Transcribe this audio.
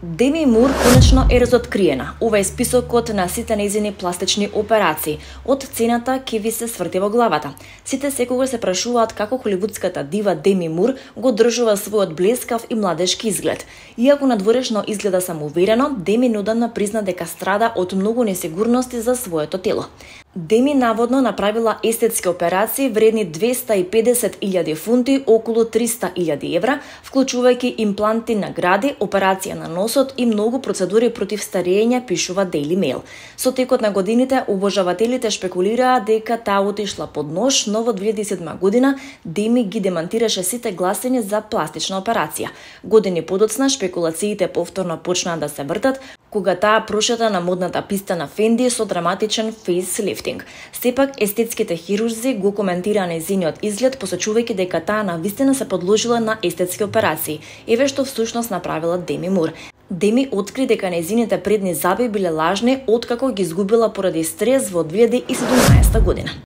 Деми Мур конечно е разоткриена. Ова е списокот на сите нејзини пластични операции. Од цената ќе ви се сврти во главата. Сите секогаш се прашуваат како холивудската дива Деми Мур го одржува својот блескав и младешки изглед. Иако надворешно изгледа самоуверено, Деми неодамна призна дека страда од многу несигурности за своето тело. Деми наводно направила естетски операции вредни 250.000 фунти, околу 300.000 евра, вклучувајќи импланти на гради, операција на носот и многу процедури против старење, пишува Daily Mail. Со текот на годините, обожавателите шпекулираа дека таа отишла под нож, но во 2007 година Деми ги демантираше сите гласини за пластична операција. Години подоцна шпекулациите повторно почнаа да се вртат, кога таа прошета на модната писта на Фенди со драматичен фейслифтинг. Сепак, естетските хирурзи го коментираа нејзиниот изглед, посочувајќи дека таа навистина се подложила на естетски операции, еве што всушност направила Деми Мур. Деми откри дека нејзините предни заби биле лажни откако ги изгубила поради стрес во 2017 година.